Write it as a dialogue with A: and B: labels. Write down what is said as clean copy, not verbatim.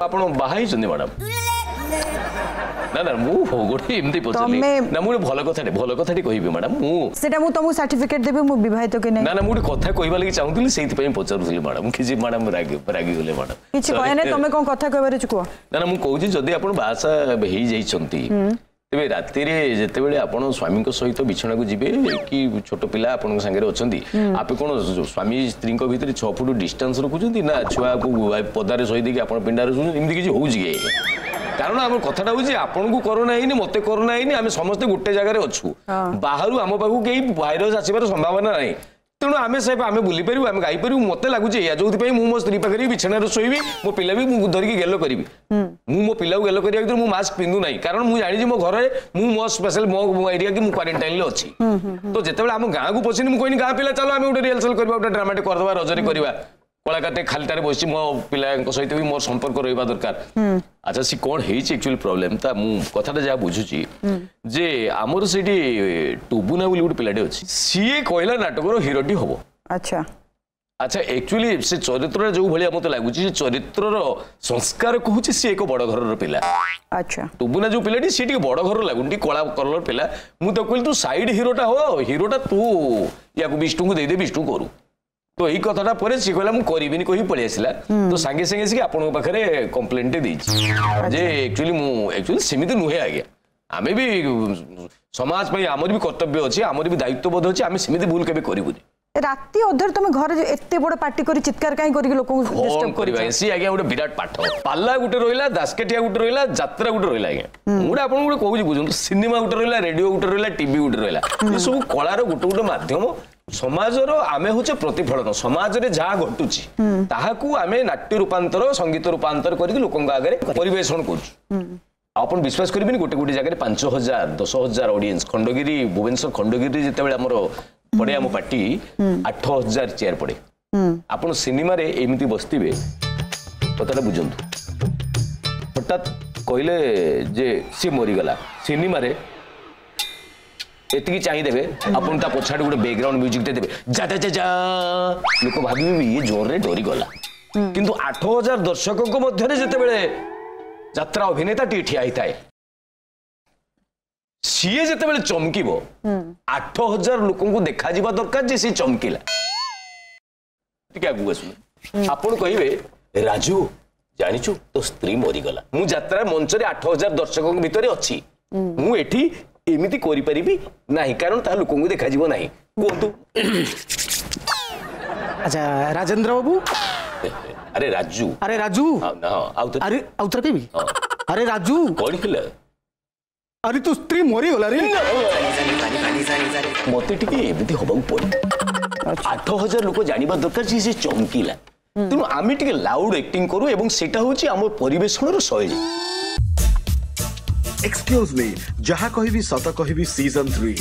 A: ଆପଣ ବାହା ହେଇଛନ୍ତି ମ୍ୟାଡ଼ାମ? ନା ନା, ମୁଁ ଗୋଟେ ଏମିତି ପଚାରିଲି। ନା, ମୁଁ ଗୋଟେ ଭଲ କଥାଟେ କହିବି ମ୍ୟାଡ଼ାମ। ମୁଁ
B: ସେଟା ମୁଁ ତମକୁ ସାର୍ଟିଫିକେଟ ଦେବି ମୁଁ ବିବାହିତ କି ନାହିଁ।
A: ନା ନା, ମୁଁ ଗୋଟେ କଥା କହିବା ଲାଗି ଚାହୁଁଥିଲି, ସେଇଥିପାଇଁ ପଚାରୁଥିଲି ମ୍ୟାଡ଼ାମ। କିଛି ମ୍ୟାଡ଼ାମ ରାଗିଗଲେ ମ୍ୟାଡ଼ାମ।
B: କିଛି କହେ ନାହିଁ, ତମେ କଣ କଥା କହିବାର ଅଛି କୁହ।
A: ନା ନା, ମୁଁ କହୁଛି ଯଦି ଆପଣ ବାହାସାହା ହେଇଯାଇଛନ୍ତି, ତେବେ ରାତିରେ ଯେତେବେଳେ ଆପଣ ସ୍ୱାମୀଙ୍କ ସହିତ ବିଛଣାକୁ ଯିବେ କି ଛୋଟ ପିଲା ଆପଣଙ୍କ ସାଙ୍ଗରେ ଅଛନ୍ତି, ଆପେ କଣ ସ୍ୱାମୀ ସ୍ତ୍ରୀଙ୍କ ଭିତରେ 6 ଫୁଟ ଡିଷ୍ଟାନ୍ସ ରଖୁଛନ୍ତି ନା ଛୁଆକୁ ପଦାରେ ଶୋଇ ଦେଇକି ଆପଣ ପିଣ୍ଡାରେ ଶୋଉଛନ୍ତି? ଏମିତି କିଛି ହଉଛି କି? କାରଣ ଆମ କଥାଟା ହଉଛି ଆପଣଙ୍କୁ କରୋନା ହେଇନି, ମତେ କରୋନା ହେଇନି, ଆମେ ସମସ୍ତେ ଗୋଟେ ଜାଗାରେ ଅଛୁ, ବାହାରୁ ଆମ ପାଖକୁ କେହି ଭାଇରସ ଆସିବାର ସମ୍ଭାବନା ନାହିଁ। ତେଣୁ ଆମେ ସେ ଆମେ ବୁଲିପାରିବୁ, ଆମେ ଗାଇପାରିବୁ। ମତେ ଲାଗୁଛି ଏଇଆ, ଯୋଉଥିପାଇଁ ମୁଁ ମୋ ସ୍ତ୍ରୀ ପାଖରେ ବିଛଣାରେ ଶୋଇବି, ମୋ ପିଲା ବି ମୁଁ ଧରିକି ଗେଲ କରିବି। ମୁଁ ମୋ ପିଲାକୁ ଗେଲ କରିବା ଭିତରେ ମୁଁ ମାସ୍କ ପିନ୍ଧୁ ନାହିଁ, କାରଣ ମୁଁ ଜାଣିଛି ମୋ ଘରେ ମୁଁ ମୋ ସ୍ପେଶାଲ ମୋ ଏରିଆ କି ମୁଁ କ୍ୱାରେଣ୍ଟାଇନରେ ଅଛି। ତ ଯେତେବେଳେ ଆମ ଗାଁକୁ ପଶିନି, ମୁଁ କହିନି ଗାଁ ପିଲା ଚାଲ ଆମେ ଗୋଟେ ରିହର୍ସାଲ କରିବା, ଗୋଟେ ଡ୍ରାମାଟେ କରିଦେବା, ରଜରେ କରିବା। କଳାକାରଟେ ଖାଲିଟାରେ ବସିଛି, ମୋ ପିଲାଙ୍କ ସହିତ ବି ମୋର ସମ୍ପର୍କ ରହିବା ଦରକାର। ଆଚ୍ଛା, ସେ କଣ ହେଇଛି ଆକ୍ଚୁଆଲି ପ୍ରୋବ୍ଲେମ ତା ମୁଁ କଥାଟା ଯାହା ବୁଝୁଛି ଯେ ଆମର ସେଇଠି ଟୁବୁନା ବୋଲି ଗୋଟେ ପିଲାଟେ ଅଛି, ସିଏ କହିଲା ନାଟକର ହିରୋଟି ହବ।
B: ଆଚ୍ଛା
A: ଆଚ୍ଛା, ଆକ୍ଚୁଆଲି ସେ ଚରିତ୍ରଟା ଯୋଉ ଭଳିଆ ମତେ ଲାଗୁଛି, ସେ ଚରିତ୍ରର ସଂସ୍କାର କହୁଛି ସିଏ ଏକ ବଡ ଘରର ପିଲା।
B: ଆଚ୍ଛା,
A: ଟୁବୁନା ଯୋଉ ପିଲାଟି ସିଏ ଟିକେ ବଡ ଘରର ଲାଗୁନି, ଟିକେ କଳା କଲର ପିଲା। ମୁଁ ତାକୁ କହିଲି ତୁ ସାଇଡ ହିରୋଟା ହୋ, ହିରୋଟା ତୁ ୟାକୁ ବିଷ୍ଣୁକୁ ଦେଇଦେ, ବିଷ୍ଣୁ କରୁ। ତ ଏଇ କଥାଟା ପରେ ସିଏ କହିଲା ମୁଁ କରିବିନି କହି ପଳେଇ ଆସିଲା। ତ ସାଙ୍ଗେ ସାଙ୍ଗେ ଆସିକି ଆପଣଙ୍କ ପାଖରେ କମ୍ପ୍ଲେନଟେ ଦେଇଛି ଯେ ଆକ୍ଚୁଆଲି ମୁଁ ଆକ୍ଚୁଆଲି ସେମିତି ନୁହେଁ ଆଜ୍ଞା, ଆମେ ବି ସମାଜ ପାଇଁ ଆମର ବି କର୍ତ୍ତବ୍ୟ ଅଛି, ଆମର ବି ଦାୟିତ୍ୱବୋଧ ଅଛି, ଆମେ ସେମିତି ଭୁଲ କେବେ କରିବୁନି।
B: ରାତି ଅଧରେ ତମେ ଘରେ ଏତେ ବଡ ପାଟି କରି ଚିତ୍କାର କାହିଁ କରିକି ଲୋକଙ୍କୁ
A: ଡିଷ୍ଟର୍ବ କରିବା? ସିଏ ଆଜ୍ଞା ଗୋଟେ ବିରାଟ ପାଠ। ପାଲା ଗୋଟେ ରହିଲା, ଦାସକାଠିଆ ଗୋଟେ ରହିଲା, ଯାତ୍ରା ଗୋଟେ ରହିଲା ଆଜ୍ଞା। ମୁଁ ଗୋଟେ ଆପଣଙ୍କୁ ଗୋଟେ କହୁଛି ବୁଝନ୍ତୁ, ସିନେମା ଗୋଟେ ରହିଲା, ରେଡିଓ ଗୋଟେ ରହିଲା, ଟିଭି ଗୋଟେ ରହିଲା, ଏସବୁ କଳାର ଗୋଟେ ଗୋଟେ ମାଧ୍ୟମ। ସମାଜର ଆମେ ହଉଛେ ପ୍ରତିଫଳନ, ସମାଜରେ ଯାହା ଘଟୁଛି ତାହାକୁ ଆମେ ନାଟ୍ୟ ରୂପାନ୍ତର, ସଙ୍ଗୀତ ରୂପାନ୍ତର କରିକି ଲୋକଙ୍କ ଆଗରେ ପରିବେଷଣ କରୁଛୁ। ଆପଣ ବିଶ୍ୱାସ କରିବେନି, ଗୋଟେ ଗୋଟେ ଜାଗାରେ 5,000 10,000 ଅଡିଏନ୍ସ। ଖଣ୍ଡଗିରି, ଭୁବନେଶ୍ୱର ଖଣ୍ଡଗିରିରେ ଯେତେବେଳେ ଆମର ପଡେ ଆମ ପାର୍ଟି, 8,000 ଚେୟାର ପଡେ। ଆପଣ ସିନେମାରେ ଏମିତି ବସିଥିବେ, କଥାଟା ବୁଝନ୍ତୁ, ହଠାତ୍ କହିଲେ ଯେ ସିଏ ମରିଗଲା, ସିନେମାରେ ଏତିକି ଚାହିଁଦେବେ ଆପଣ, ତା ପଛଆଡ଼େ ଗୋଟେ ବ୍ୟାକଗ୍ରାଉଣ୍ଡ ମ୍ୟୁଜିକ ଦେଇଦେବେ, ଯା ଯା ଯା, ଲୋକ ଭାବିବେ ଇଏ ଜୋରରେ ଡରିଗଲା। କିନ୍ତୁ 8,000 ଦର୍ଶକଙ୍କ ମଧ୍ୟରେ ଯେତେବେଳେ ଯାତ୍ରା ଅଭିନେତାଟିଏ ଠିଆ ହେଇଥାଏ, ସିଏ ଯେତେବେଳେ ଚମକିବ, 8,000 ଲୋକଙ୍କୁ ଦେଖାଯିବା ଦରକାର ଯେ ସିଏ ଚମକିଲା। ଟିକେ ଆଗକୁ ଆସୁନ, ଆପଣ କହିବେ ରାଜୁ ଜାଣିଛୁ ତୋ ସ୍ତ୍ରୀ ମରିଗଲା। ମୁଁ ଯାତ୍ରା ମଞ୍ଚରେ 8,000 ଦର୍ଶକଙ୍କ ଭିତରେ ଅଛି, ମୁଁ ଏଠି ଏମିତି କରିପାରିବି ନାହିଁ, କାରଣ ତାହା ଲୋକଙ୍କୁ ଦେଖାଯିବ ନାହିଁ। କୁହନ୍ତୁ।
C: ଆଚ୍ଛା ରାଜେନ୍ଦ୍ର ବାବୁ।
A: ଆରେ ରାଜୁ।
C: ଆରେ ରାଜୁ। ଆରେ ଆଉ ଥରେ କହିବି? ଆରେ ରାଜୁ।
A: କଣ ହେଲା?
C: ଆରେ ତୋ ସ୍ତ୍ରୀ ମରିଗଲା ରେ।
A: ମତେ ଟିକେ ଏମିତି ହବାକୁ ପଡେ, 8,000 ଲୋକ ଜାଣିବା ଦରକାର ଯେ ସେ ଚମକିଲା। ତେଣୁ ଆମେ ଟିକେ ଲାଉଡ ଆକ୍ଟିଂ କରୁ ଏବଂ ସେଟା ହଉଛି ଆମ ପରିବେଷଣର ଶୈଳୀ।
D: ଏକ୍ସକ୍ୟୁଜ ମି, ଯାହା କହିବି ସତ କହିବି ସିଜନ 3